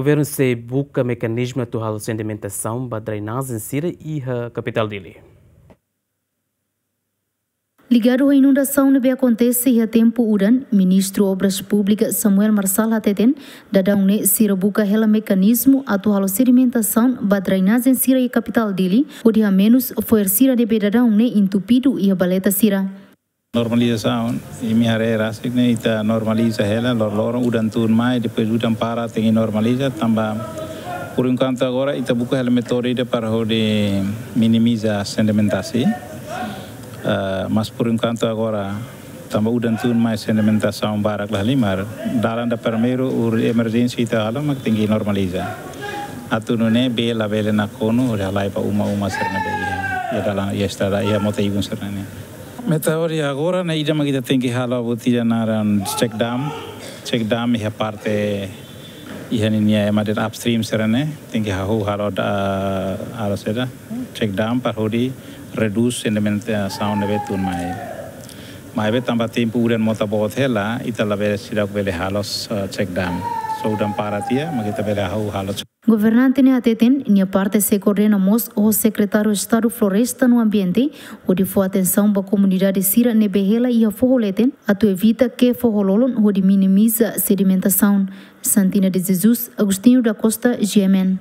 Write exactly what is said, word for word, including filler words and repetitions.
Governu sei buka mekanizmu atu halo sedimentasaun ba drenajen sira iha kapitál Dili. Ligadu ho inundasaun ne'ebé akontese iha tempu udan, Ministru Obras Públikas Samuel Marçal hateten, daudaun ne'e sira buka hela mekanizmu atu halo sedimentasaun ba drenajen sira iha kapitál Dili, hodi hamenus fo'er sira ne'ebé daudaun ne'e entupidu iha baleta sira. Normalizasaun, imi haree rasik ne'e ita normaliza hela, loroloron udan tun mai, depois udan para tenke normaliza, tanba por enkuantu agora ita buka hela métodu ida para hodi minimiza sedimentasaun. Ah, mas por enkuantu agora, tanba udan tun mai sedimentasaun barak la halimar, dalan ida primeiru, ur emerjénsia ita halo, mak tenke normaliza. Atu nune'e bee labele nakonu, hodi halai ba uma-uma sira ne'ebé iha, iha dalan, iha estrada, iha mota ibun sira ne'e. Meta hodi agora ne'e ida mak ita tenke halo buat ida naran check dam, check dam iha parte iha ninia ema de'it upstream sira ne'e, tenke hahú halo da, halo saida, check dam para hodi redús sedimentasaun ne'ebé tun mai. Maibé tanba tempu udan mota boot hela, ita labele seidauk bele halo, eh, check dam. Só udan para tiha, mak ita bele hahú halo. Governante ne'e hateten, nia parte sei koordena mós ho Sekretáriu Estadu Floresta no Ambiente, hodi fó atensaun ba komunidade sira ne'ebé hela iha foho leten, atu evita ke foho lolon hodi minimiza sedimentasaun. Santina de Jesus, Agostinho da Costa, G M N.